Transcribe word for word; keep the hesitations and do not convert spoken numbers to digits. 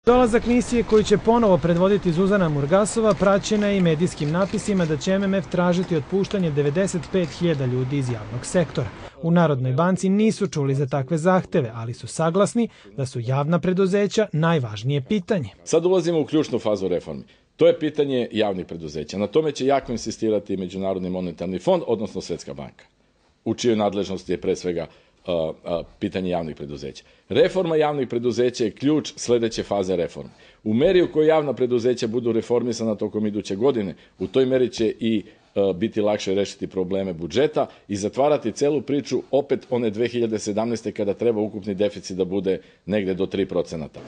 Dolazak misije koju će ponovo predvoditi Zuzana Murgasova praćena je i medijskim napisima da će M M F tražiti otpuštanje devedeset pet hiljada ljudi iz javnog sektora. U Narodnoj banci nisu čuli za takve zahteve, ali su saglasni da su javna preduzeća najvažnije pitanje. Sad ulazimo u ključnu fazu reformi. To je pitanje javnih preduzeća. Na tome će jako insistirati Međunarodni monetarni fond, odnosno Svjetska banka, u čijoj nadležnosti je pre svega uh, uh, pitanje javnih preduzeća. Reforma javnih preduzeća je ključ sljedeće faze reforme. U meri u kojoj javna preduzeća budu reformisana tokom iduće godine, u toj meri će i uh, biti lakše rešiti probleme budžeta i zatvarati celu priču opet one dve hiljade sedamnaeste. kada treba ukupni deficit da bude negde do tri procenta.